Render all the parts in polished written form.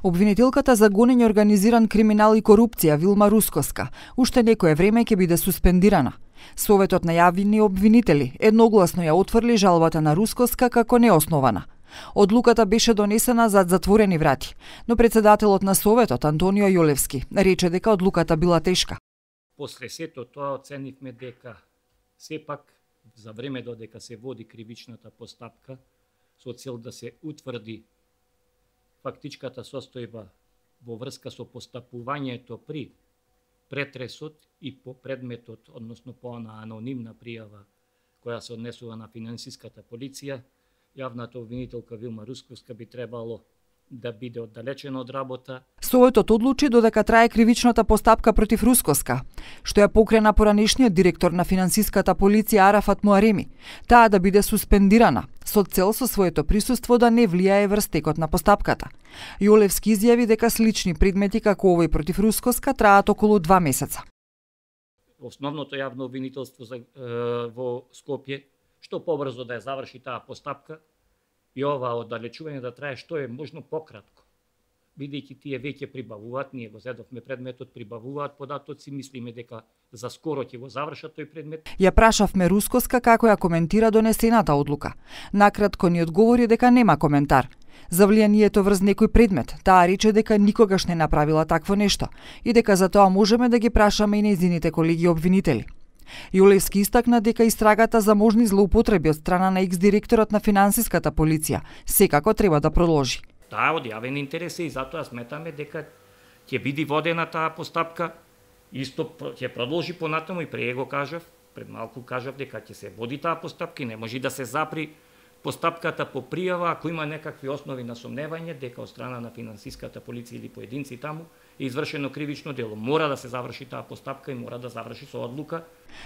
Обвинителката за гонење организиран криминал и корупција Вилма Рускоска уште некое време ќе биде суспендирана. Советот на јавни обвинители едногласно ја отфрли жалбата на Рускоска како неоснована. Одлуката беше донесена зад затворени врати, но председателот на Советот Антонио Јолевски рече дека одлуката била тешка. После сето тоа оценивме дека сепак за време додека се води кривичната постапка со цел да се утврди фактичката состојба во врска со постапувањето при претресот и по предметот, односно по она анонимна пријава која се однесува на финансиската полиција, јавната обвинителка Вилма Рускоска би требало да биде оддалечена од работа. Советот одлучи додека трае кривичната постапка против Рускоска, што ја покрена поранешниот директор на финансиската полиција Арафат Муареми, таа да биде суспендирана со цел со своето присуство да не влијае врз текот на постапката. Јолевски изјави дека слични предмети како овој против Рускоска траат околу 2 месеца. Основното јавно обвинителство во Скопје што побрзо да ја заврши таа постапка и ова оддалечување да трае што е можно пократко. Бидејќи тие веќе прибавуваат, ние го зедовме предметот, прибавуваат податоци, мислиме дека за скоро ќе го завршат тој предмет. Ја прашавме Рускоска како ја коментира донесената одлука. Накратко ни одговори дека нема коментар. За влијанието врз некој предмет, таа рече дека никогаш не направила такво нешто и дека за тоа можеме да ги прашаме и нејзините колеги обвинители. Јолевски истакна дека истрагата за можни злоупотреби од страна на екс-директорот на финансиската полиција секако треба да продолжи. Таа од јавен интерес и затоа сметаме дека ќе биде водена таа постапка, исто ќе продолжи понатаму и пред го кажав, пред малку кажав дека ќе се води таа постапка и не може да се запри постапката по пријава ако има некакви основи на сомневање дека од страна на финансиската полиција или поединци таму е извршено кривично дело. Мора да се заврши таа постапка и мора да заврши со одлука.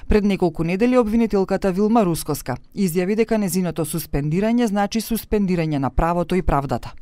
Пред неколку недели обвинителката Вилма Рускоска изјави дека незиното суспендирање значи суспендирање на правото и правдата.